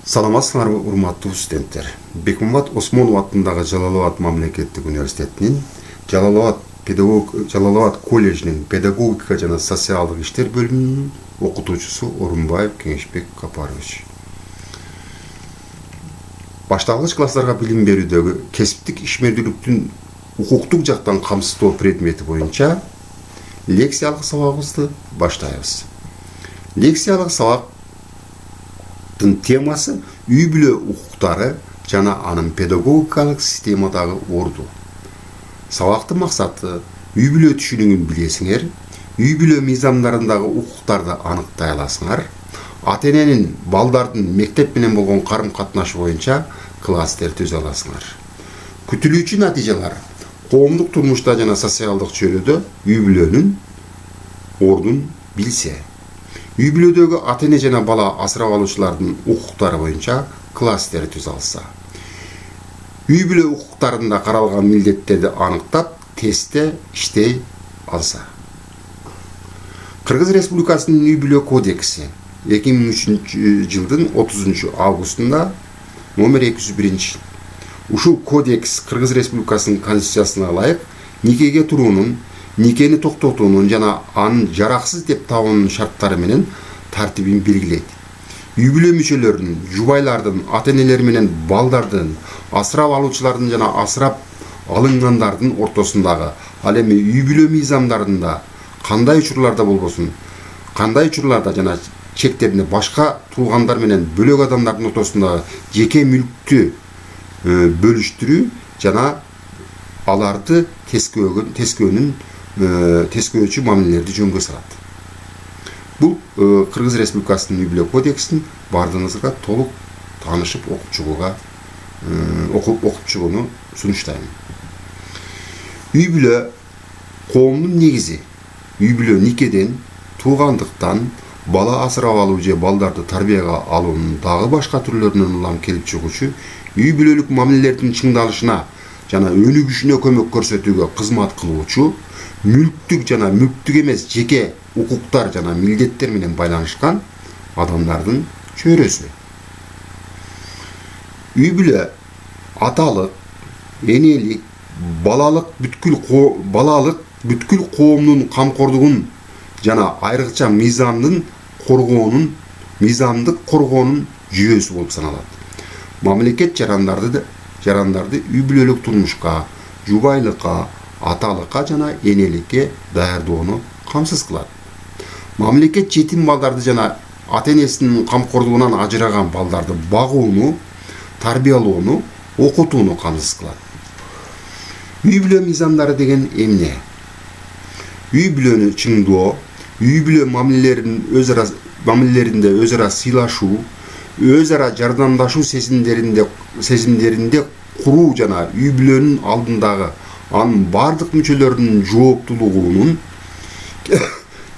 Саламатсыңарбы, урматтуу студенттер. Бекмамбет Осмонов атындагы Жалал-Абад мамлекеттик университетинин Жалал-Абад колледжинин педагогика жана социалдык иштер бөлүмүнүн окутуучусу Орунбаев Кеңешбек Капарович. Башталгыч класстарга билим берүүдөгү кесиптик ишмердүүлүктүн укуктук жактан камсыздоо предмети боюнча лекциялык сабагыбызды баштайбыз. Лекциялык сабак темасы үй бүлө укуктары жана анын педагогикалык системадагы орду. Сабактын максаты үй бүлө түшүнүгүн билесиңер, үй бүлө мыйзамдарындагы укуктарды аныктай аласыңар, ата-эненин балдардын мектеп менен болгон карым-катнашы боюнча класстер түзө аласыңар. Күтүлүүчү натыйжалар коомдук турмушта жана социалдык чөйрөдө үй бүлөнүн ордун билсе, үй бүлөдөгү ата-эне жана бала асырап алуучулардын укуктары боюнча класстер түзө алса, үй бүлө укуктарында каралган милдеттерди аныктап, тестте иштей алса. Кыргыз Республикасынын үй бүлө кодекси 2003 жылдын 30 августунда номер 201. Ушул кодекс Кыргыз Республикасынын конституциясына ылайык никеге туруунун, никени токтотуунун жана анын жараксыз деп табуунун шарттары менен тартибин белгилейт. Үй бүлө мүчөлөрүнүн, жубайлардын, ата-энелер менен балдардын, асырап алуучулардын жана асырап алынгандардын ортосундагы, ал эми үй бүлө мыйзамдарында кандай учурларда болбосун, кандай учурларда жана чектеринде башка туугандар менен бөлөк адамдардын ортосундагы жеке мүлктү бөлүштүрүү жана аларды тескөөчү мамилелерди жөнгө салат. Бул Кыргыз Республикасынын үй бүлө кодексин бардыгыңызга толук таанышып окуп чыгууну сунуштайм. Үй бүлө коомдун негизи. Үй бүлө никеден, туугандыктан, бала асырап алуу же балдарды тарбияга алуунун дагы башка түрлөрүнөн улам келип чыгуучу үй бүлөлүк мамилелердин чыңдалышына жана өнүгүшүнө көмөк көрсөтүүгө кызмат кылуучу мүлктүк жана мүлктүк эмес жеке укуктар жана милдеттер менен байланышкан адамдардын чөйрөсү. Үй бүлө аталык, энелик, балалык бүткүл коомдун камкордугун жана айрыкча мыйзамдык коргоонун жүйөсү болуп саналат. Мамлекет жарандарды үй бүлөлүк турмушка, жубайлыкка, аталыкка жана энеликке даярдоону камсыз кылат. Мамлекет жетим балдарды жана ата-энесинин камкордугунан ажыраган балдарды багууну, тарбиялоону, окутууну камсыз кылат. Үй бүлө мыйзамдары деген эмне? Үй бүлөнү чыңдоо, үй бүлө мамилелеринде өз ара сыйлашуу, өз ара жардамдашуу сезимдеринде куруу жана үй бүлөнүн алдындагы анын бардык мүчөлөрүнүн жооптулугунун,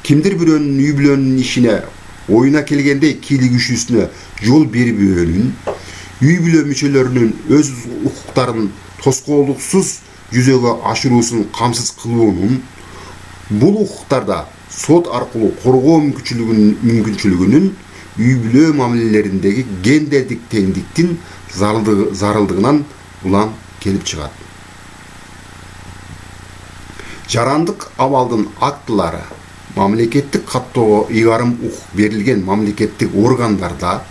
кимдир бирөөнүн үй бүлөнүн ишине оюна келгенде кийлигишүүсүнө жол бербөөнүн, үй бүлө мүчөлөрүнүн өз укуктарын тоскоолдуксуз жүзөгө ашыруусун камсыз кылуунун, бул укуктарда сот аркылуу коргоо мүмкүнчүлүгүнүн үй бүлө мамилелериндеги гендердик теңдиктин зарылдыгынан улам келип чыгат. Жарандык абалдын актылары мамлекеттик каттоого ыйгарым укук берилген мамлекеттик органдарда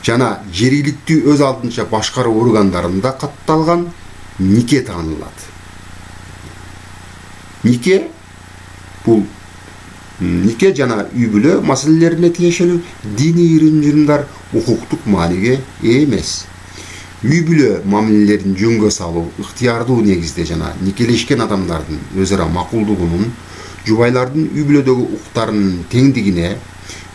жана жергиликтүү өз алдынча башкаруу органдарында катталган нике таанылат. Нике жана үй бүлө маселелерине тиешелүү диний ырым-жырымдар укуктук мааниге ээ эмес. Үй бүлө мамилелерин жөнгө салуу ыктыярдуу негизде жана никелешкен адамдардын өз ара макулдугунун, жубайлардын үй бүлөдөгү укуктарынын теңдигине,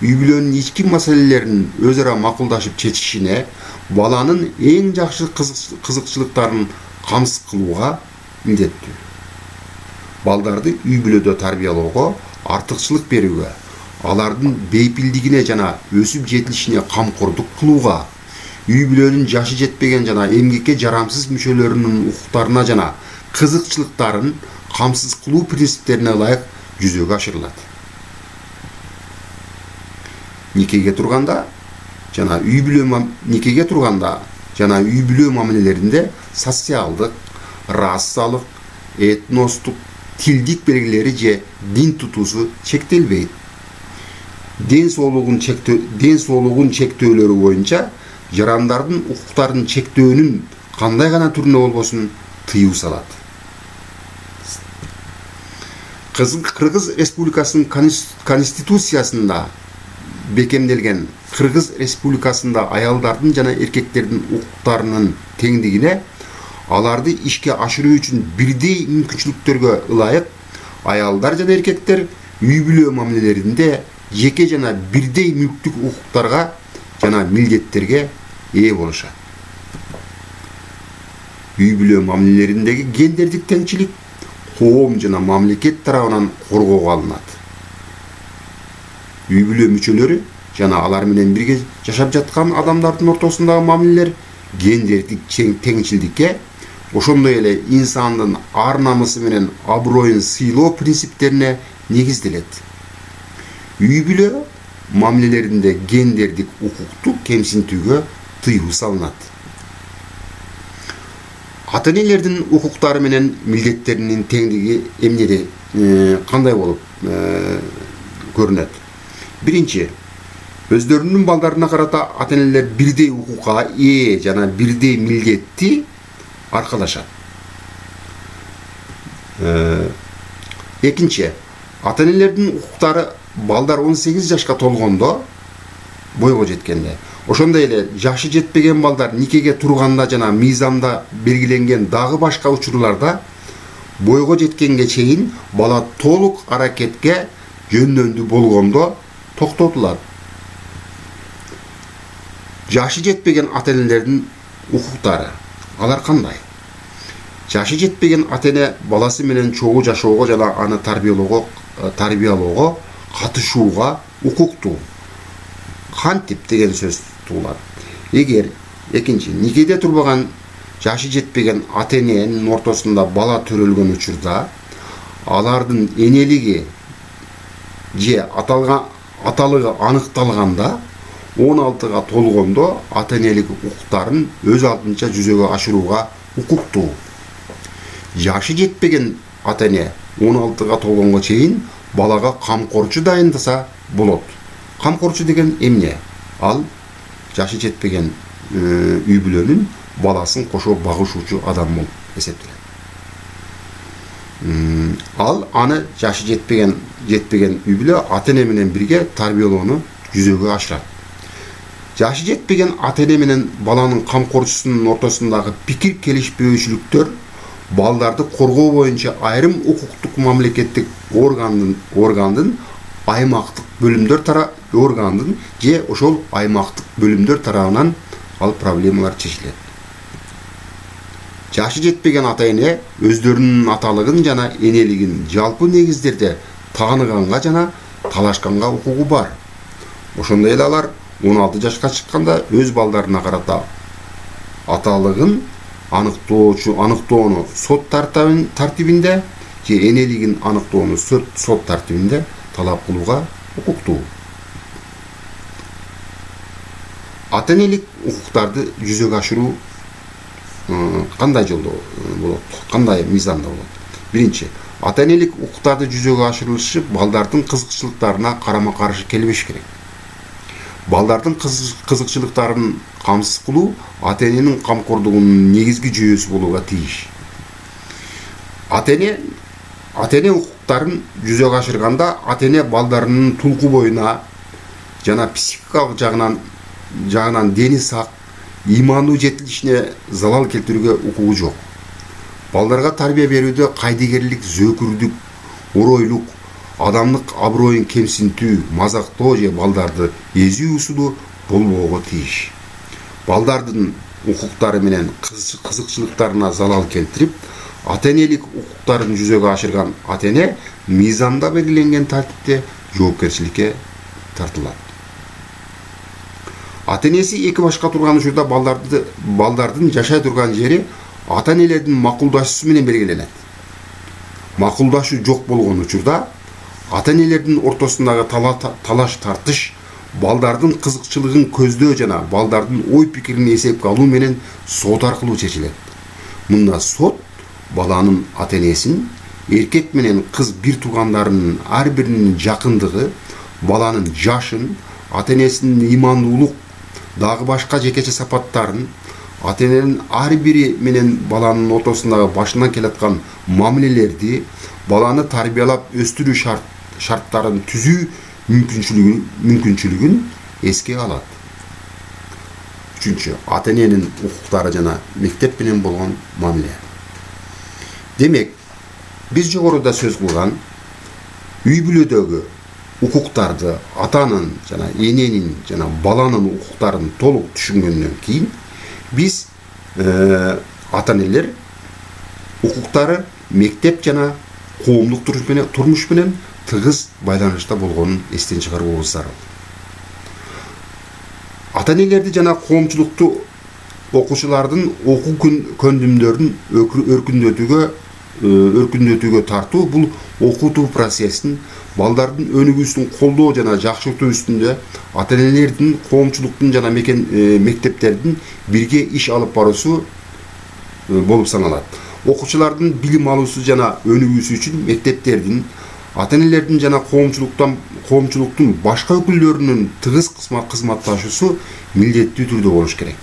үй бүлөнүн ички маселелерин өз ара макулдашып чечишине, баланын эң жакшы кызыкчылыктарын камсыз кылууга милдеттүү. Балдарды үй бүлөдө тарбиялоого, артыкчылык берүүгө, алардын бейпилдигине жана өсүп жетилишине камкордук кылууга, үй бүлөнүн жашы жетпеген жана эмгекке жарамсыз мүчөлөрүнүн укуктарына жана кызыкчылыктарын камсыз кылуу принциптерине ылайык жүзөгө ашырылат. Никеге турганда жана үй бүлө никеге турганда жана үй бүлө мамилелеринде социалдык, расалык, этностук, тилдик белгилери же дин тутуусу чектелбейт. Ден соолугун чектөөлөрү боюнча жарандардын укуктарын чектөөнүн кандай гана түрүнө болбосун тыюу салат. Кыргыз Республикасынын конституциясында бекемделген Кыргыз Республикасында аялдардын жана эркектердин укуктарынын теңдигине, аларды ишке ашыруу үчүн бирдей мүмкүнчүлүктөргө ылайык аялдар жана эркектер үй бүлө мамилелеринде жеке жана бирдей мүлктүк укуктарга жана милдеттерге ээ болушат. Үй бүлө мамилелериндеги гендердик теңчилик коом жана мамлекет тарабынан коргоого алынат. Үй бүлө мүчөлөрү жана алар менен бирге жашап жаткан адамдардын ортосундагы мамилелер гендердик теңчилдикке, ошондой эле инсандын ар намысы менен аброюн сыйлоо принциптерине негизделет. Үй бүлө мамилелеринде гендердик укукту кемсинтүүгө тыюу салынат. Ата-энелердин укуктары менен милдеттеринин теңдиги эмнеде кандай болуп көрүнөт? Биринчи, өздөрүнүн балдарына карата ата-энелер бирдей укукка ээ жана бирдей милдетти аркалашат. Экинчи, ата-энелердин укуктары балдар 18 жашка толгондо, бойго жеткенде, ошондой эле жашы жетпеген балдар никеге турганда жана мыйзамда белгиленген дагы башка учурларда бойго жеткенге чейин бала толук аракетке жөндөмдүү болгондо токтотулат. Жашы жетпеген ата-энелердин укуктары алар кандай? Жашы жетпеген ата-эне баласы менен чогуу жашоого жана аны тарбиялоого катышууга укуктуу. Кантип деген сөз туулат. Эгер экинчи, никеде турбаган жашы жетпеген ата-эненин ортосунда бала төрөлгөн учурда алардын энелиги же аталыгы аныкталганда 16га толгондо ата-энелик укуктарын өз алдынча жүзөгө ашырууга укуктуу. Жашы жетпеген ата-эне 16га толгонго чейин балага камкорчу дайындаса болот. Камкорчу деген эмне? Ал жашы жетпеген үй бүлөнүн баласын кошо багышуучу адам болуп эсептелет. Ал аны жашы жетпеген үй бүлө ата-эне менен бирге тарбиялоону жүзөгө ашырат. Жашы жетпеген ата-эне менен баланын камкорчусунун ортосундагы пикир келишпөөчүлүктөр балдарды коргоо боюнча айрым укуктук мамлекеттик органдын аймактык бөлүмдөр же ошол аймактык бөлүмдөр тарабынан ал проблемалар чечилет. Жашы жетпеген ата-эне өздөрүнүн аталыгын жана энелигин жалпы негиздерде тааныганга жана талашканга укугу бар. Ошондой эле алар 16 жашка чыкканда өз балдарына карата аталыгын аныктоону сот тартибинде же энелигин аныктоону сот тартибинде талап кылууга укуктуу. Ата-энелик укуктарды жүзөгө ашыруу кандай жолдо болот? Кандай мыйзамда болот? Биринчи, ата-энелик укуктарды жүзөгө ашырылышы балдардын кызыкчылыктарына карама-каршы келбеш керек. Балдардын кызыкчылыктарын камсыз кылуу ата-эненин камкордугунун негизги жүйөсү болууга тийиш. Ата-эне укуктарын жүзөгө ашырганда ата-эне балдарынын тулку боюна жана психикалык жагынан дени сак, имандуу жетилишине залал келтирүүгө укугу жок. Балдарга тарбия берүүдө кайдыгерлик, зөөкүрдүк, оройлук, адамдык аброюн кемсинтүү, мазактоо же балдарды эзүү усуду болбоого тийиш. Балдардын укуктары менен кызыкчылыктарына залал келтирип, ата-энелик укуктарын жүзөгө ашырган ата-эне мыйзамда белгиленген тартипте жоопкерчиликке тартылат. Ата-энеси эки башка турган учурда балдардын жашай турган жери ата-энелердин макулдашуусу менен белгиленет. Макулдашуу жок болгон учурда ата-энелердин ортосундагы талаш тартыш балдардын кызыкчылыгын көздөө жана балдардын ой пикирин эсепке алуу менен сот аркылуу чечилет. Мында сот баланын ата-энесин, эркек менен кыз бир туугандарынын ар биринин жакындыгы, баланын жашын, ата-энесинин ыймандуулук, дагы башка жекече сапаттарын, ата-эненин ар бири менен баланын ортосундагы башынан келаткан мамилелерди, баланы тарбиялап өстүрүү шарттарын түзүү мүмкүнчүлүгүн эске алат. Үчүнчү, ата-эненин укуктары жана мектеп менен болгон мамиле. Демек, биз жогоруда сөз кылган үй бүлөдөгү укуктарды атанын жана эненин жана баланын укуктарын толук түшүнгөндөн кийин биз ата-энелер укуктары мектеп жана коомдук турмуш менен тыгыз байланышта болгонун эстен чыгарууубуз зарыл. Ата-энелерди жана коомчулукту окуучулардын окуу көндүмдөрүн өркүндөтүүгө тартуу бул окутуу процессин, балдардын өнүгүүсүн колдоо жана жакшыртуу үстүндө ата-энелердин, коомчулуктун жана мектептердин бирге иш алып баруусу болуп саналат. Окуучулардын билим алуусу жана өнүгүүсү үчүн мектептердин, ата-энелердин жана коомчулуктун башка өкүлдөрүнүн тыгыз кызматташуусу милдеттүү түрдө болуш керек.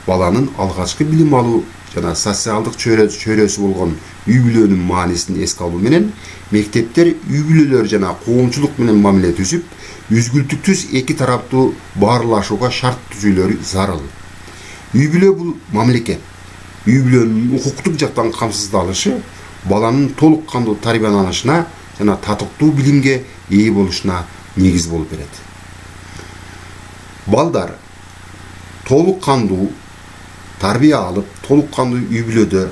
Баланын алгачкы билим алуу жана социалдык чөйрөсү болгон үй бүлөнүн маанисин эске алуу менен мектептер үй бүлөлөр жана коомчулук менен мамиле түзүп, үзгүлтүктүз эки тараптуу баарлашууга шарт түзүүлөрү зарыл. Үй бүлө бул мамлекет. Үй бүлөнүн укуктук жактан камсыздалышы баланын толук кандуу тарбияланышына жана татыктуу билимге ээ болушуна негиз болуп берет. Балдар толук кандуу тарбия алып, толук кандуу үй бүлөдө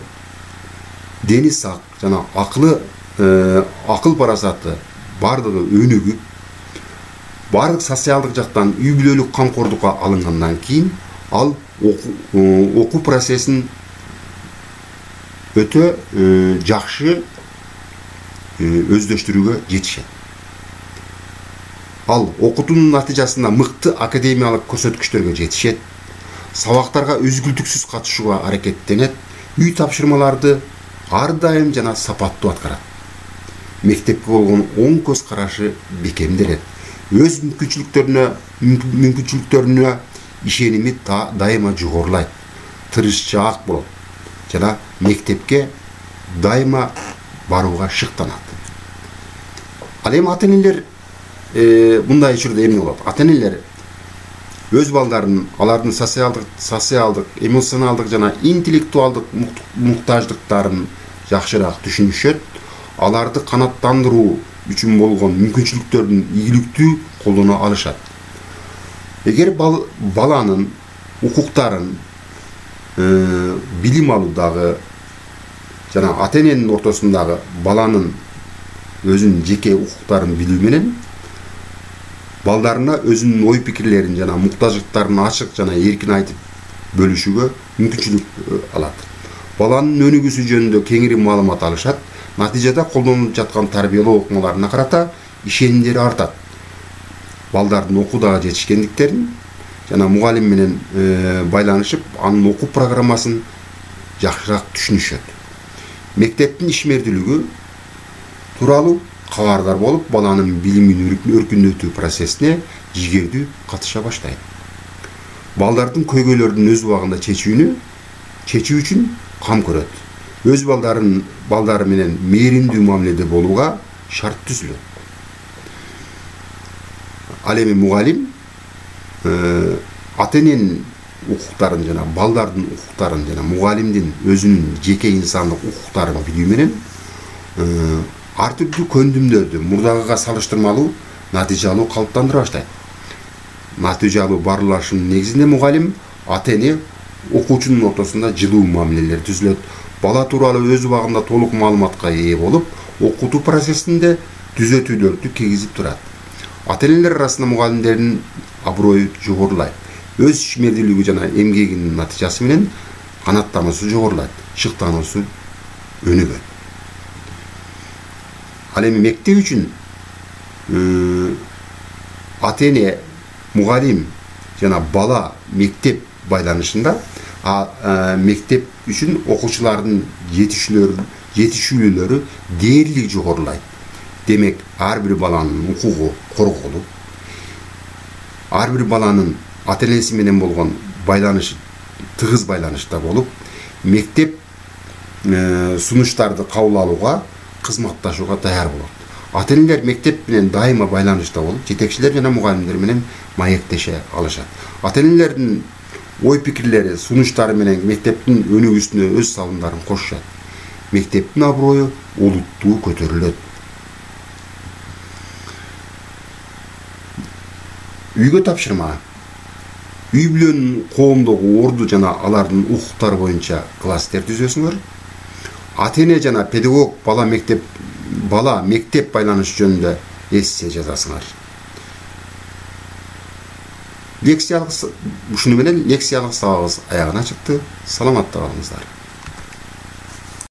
дени сак жана акыл парасаты бардыгы өнүгүп, бардык социалдык жактан үй бүлөлүк камкордукка алынгандан кийин ал окуу процессин өтө жакшы өздөштүрүүгө жетишет. Ал окутуунун натыйжасында мыкты академиялык көрсөткүчтөргө жетишет, сабактарга үзгүлтүксүз катышууга аракеттенет, үй тапшырмаларды ар дайым жана сапаттуу аткарат. Мектепке болгон оң көз карашы бекемделет. Өз мүмкүнчүлүктөрүнө ишеними дайыма жогорулайт, тырышчаак болот жана мектепке дайыма барууга шыктанат. Ал эми ата-энелер мындай учурда эмне болот? Ата-энелер өз балдарын, алардын социалдык, эмоционалдык жана интеллектуалдык муктаждыктарын жакшыраак түшүнүшөт, аларды канааттандыруу үчүн болгон мүмкүнчүлүктөрдүн ийгиликтүү колдоно алышат. Эгер баланын укуктарын билим алуудагы жана ата-эненин ортосундагы баланын өзүнүн жеке укуктарын билүү менен балдарына өзүнүн ой пикирлерин жана муктаждыктарын ачык жана эркин айтып бөлүшүүгө мүмкүнчүлүк алат. Баланын өнүгүүсү жөнүндө кеңири маалымат алышат, натыйжада колдонулуп жаткан тарбиялоо окумаларына карата ишенимдери артат. Балдардын окуудагы жетишкендиктерин жана мугалим менен байланышып, анын окуу программасын жакшыраак түшүнүшөт. Мектептин ишмердүүлүгү тууралуу кабардар болуп, баланын билимин өркүндөтүү процессине жигердүү катыша баштайт. Балдардын көйгөйлөрдүн өз убагында чечүү үчүн кам көрөт. Өз балдары менен мээримдүү мамиледе болууга шарт түзүлөт. Ал эми мугалим ата-эненин укуктарын жана балдардын укуктарын жана мугалимдин өзүнүн жеке инсандык укуктарын билүү менен ар түрдүү көндүмдөрдү мурдагыга салыштырмалуу натыйжалуу калыптандыра баштайт. Натыйжалуу баарлашынын негизинде мугалим, ата-эне, окуучунун ортосунда жылуу мамилелер түзүлөт. Бала тууралуу өз убагында толук маалыматка ээ болуп, окутуу процессинде түзөтүүлөрдү киргизип турат. Ата-энелер арасында мугалимдердин аброю жогорулайт. Өз ишмердүүлүгү жана эмгегинин натыйжасы менен канааттануусу жогорулайт, шыктануусу өнүгөт. Ал эми мектеп үчүн ата-эне мугалим жана бала мектеп байланышында мектеп үчүн окуучулардын жетишүүлөрү дээрлик жогорулайт. Демек, ар бир баланын укугу корголуп, ар бир баланын ата-энеси менен болгон байланышы тыгыз байланышта болуп, мектеп сунуштарды кабыл алууга, кызматташууга даяр болот. Ата-энелер мектеп менен дайыма байланышта болуп, жетекчилер жана мугалимдер менен маектеше алышат. Ата-энелердин ой пикирлери, сунуштары менен мектептин өнүгүүсүнө өз салымдарын кошушат. Мектептин аброю, улуттуу көтөрүлөт. Үйгө тапшырма. Үй бүлөнүн коомдогу орду жана алардын укуктары боюнча класстер түзөсүңөр. Ата-эне жана педагог бала мектеп байланышы жөнүндө эссе жазасыңар. Ушуну менен лекциялык сабагыбыз аягына чыкты. Саламатта калыңыздар.